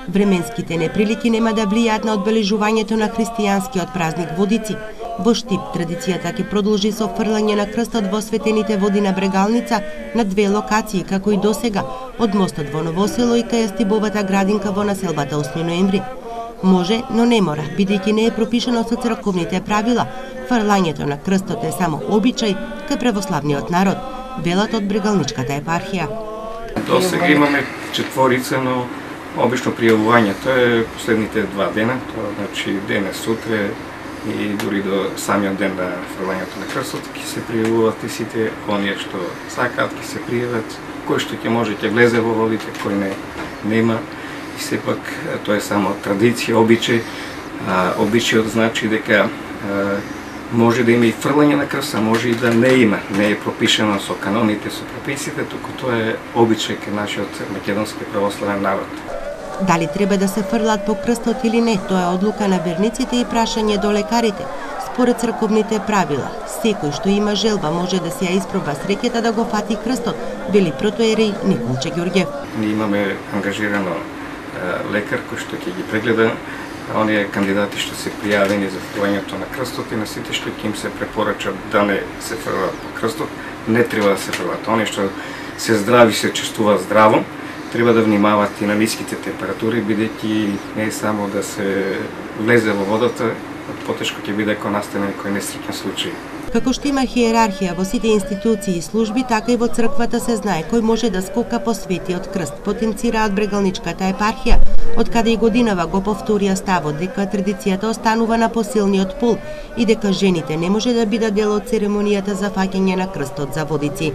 Временските неприлики нема да влијаат на одбележувањето на христијанскиот празник Водици. Во Штип традицијата ќе продолжи со фрлање на крстот во светените води на Брегалница на две локации, како и досега, од мостот во Новосело и кај Стибовата градинка во населбата 8 ноември. Може, но не мора, бидејќи не е пропишано со црковните правила. Фрлањето на крстот е само обичај кај православниот народ, велат од Брегалничката епархија. Досега имаме четворица, но обично пријавувањето е последните 2 дена, тоа значи денес, сутре и дури до самиот ден на фрлањето на крстот ќе се пријавуваат и сите оние што сакаат ќе се пријават, кој што ќе може ќе влезе во водите, кој нема. И сепак тоа е само традиција, обичај. Обичајот значи дека може да има и фрлање на крст, а може и да не има. Не е пропишано со каноните, со прописите, туку тоа е обичај кај нашиот македонски православен народ. Дали треба да се фрлат по крстот или не, тоа е одлука на верниците и прашање до лекарите. Според црковните правила, секој што има желба може да се ја испроба среќата да го фати крстот, вели протоерей Николче Ѓорѓев. Ние имаме ангажирано лекар кој што ќе ги прегледа оние кандидати што се пријавени за фрлањето на крстот и на сите што ќе им се препорача да не се фрлат по крстот, не треба да се фрлат. Оние што се здрави, се чувствуваат здраво, треба да внимават и на ниските температури, бидејќи не е само да се влезе во водата, потешко ќе биде ако настане некој несреќен случај. Како што има хиерархија во сите институции и служби, така и во црквата се знае кој може да скока по светиот крст, потенцираат Брегалничката епархија, од каде и годинава го повторија ставот дека традицијата останува на посилниот пол и дека жените не може да бидат дел од церемонијата за фаќање на крстот за Водици.